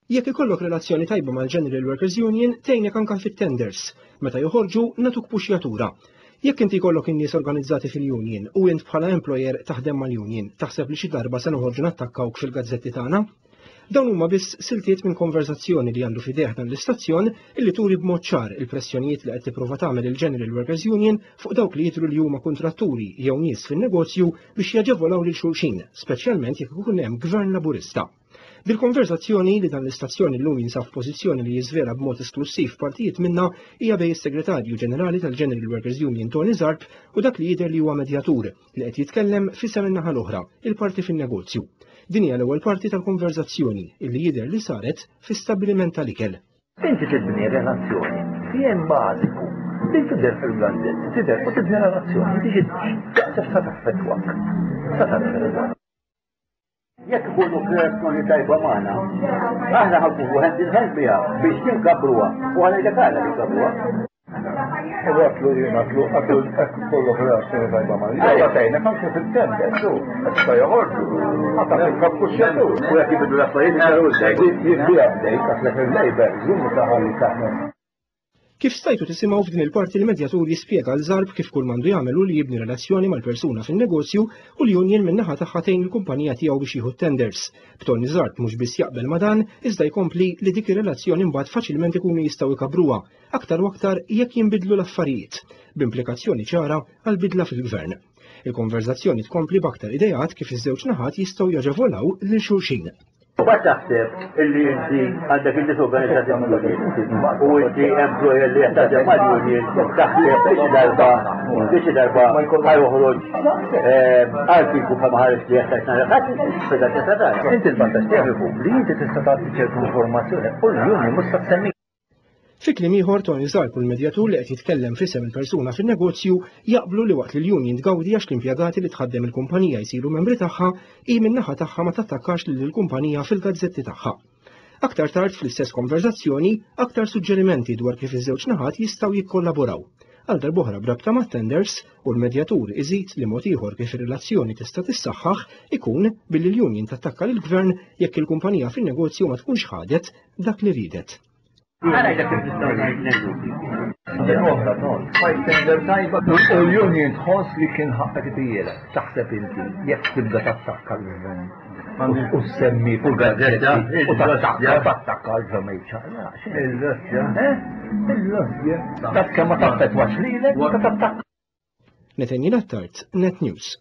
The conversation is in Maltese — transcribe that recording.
Jekk ikollok relazzjoni tajba mal-General Workers Union tgħinek anke fit-tenders. Meta joħorġu nagħtuk puxjatura. Jekk inti jkollok in-nies organizzati fil-union u int bħala employer taħdem mal-union, taħseb li xi darba se noħorġu nattakkawk fil-gazzetti tagħna? Dawn huma biss siltiet minn konverzazzjoni li għandu f'idejh dan l-istazzjon illi turi b'mod ċar il-pressjonijiet li qed tipprova tagħmel il-General Workers Union fuq dawk li jidhru li huma kuntratturi jew nies fin-negozju biex jaġevolaw lil xulxin, speċjalment jekk ikun hemm gvern Laburista. Dil-konverżazzjoni li dan l-istazzjon illum jinsab f'pożizzjoni li jiżvela b'mod esklussiv partijiet minnha hija bejn is-Segretarju Ġenerali tal-General Workers Union Tony Zarb u dak li jidher li huwa medjatur li qed jitkellem f'isem in-naħa l-oħra, il-parti fin-negozju. Din hija l-ewwel parti tal-konverżazzjoni illi jidher li saret fi stabbiliment tal-ikel. Inti tibni relazzjoni, fien bażiku, li tidher fil-gazzetti, tidher u tibni relazzjoni, inti xi sa taffettwak. Sa taffettwak. Jekk ikunu f'relazzjoni tajba magħna, aħna ħankunu hand in hand biha biex ninkabbruha u ħanejlek għala ninkabbruha. U għatlu jien għatlu għatlu kollok relazzjoni tajba magħna. Jalla tgħinek anke fit-tender, su, qed joħorġu. Għata fil-kappuxxjatur. U jekk jibidlu l-affarijiet, Jien biha bdejt, għatlek il-Labour, żummu taħalli taħna. Kif stajtu tisimgħu f'din il-parti l-medjatur jispjega l Zarb kif kull m'għandu jagħmel hu li jibni relazzjoni mal-persuna fin-negozju u l-union min-naħa tagħha tgħin il-kumpanija tiegħu biex jieħu t-tenders. B'Tony Zarb mhux biss jaqbel ma' dan, iżda jkompli li dik ir-relazzjoni mbagħad faċilment ikunu jistgħu jkabbruha, aktar u aktar jekk jinbidlu l-affarijiet, b'implikazzjoni ċara għal bidla fil-gvern. Il-konverżazzjoni tkompli b'aktar ideat kif iż-żewġ naħat jistgħu jaġevolaw lil xulxin. Mbagħad taħseb illi inti għandek in-nies organizzati mal-union u inti employer li qed taħdem mal-union taħseb li xi darba li xi darba ħa joħroġ ehm, artiklu bħalma ħareġ li qed tgħid nhar il-Ħadd, Inti l-vantaġġ tiegħek ikun li inti tista' tagħti ċertu informazzjoni u l-union mhux se tsemmi. Fi kliem ieħor, Tony Zarb u l-medjatur li qed jitkellem f'isem il-persuna fin-negozju jaqblu li waqt li l-union tgawdi għax l-impjegati li tħaddem il-kumpanija jsiru membri tagħha, hi min-naħa tagħha ma tattakkax lil il-kumpanija fil-gazzetti tagħha. Aktar tard fl-istess konverżazzjoni, aktar suġġerimenti dwar kif iż-żewġ naħat jistgħu jikkollaboraw. Għal darb'oħra b'rabta mat-tenders, u l-medjatur iżid li mod ieħor kif ir-relazzjoni tista' tissaħħaħ ikun billi l-union tattakka lill-gvern jekk il-kumpanija fin-negozju ma tkunx ħadet dak li riedet. Għana kif nistgħu ngħidu. Oħra, ton, fight tender tajba. U l-union tħoss li kien ħaqqek tijielek. Taħseb inti, jekk tibda tattakka l-gvern. U semmi u gazzetta u tattakka, tattakka l-gvern Il-Russja. Il-Russja. Dak kemm ma taffetwax lilek, ta' tattakka. Nathaniel Attard, Net News.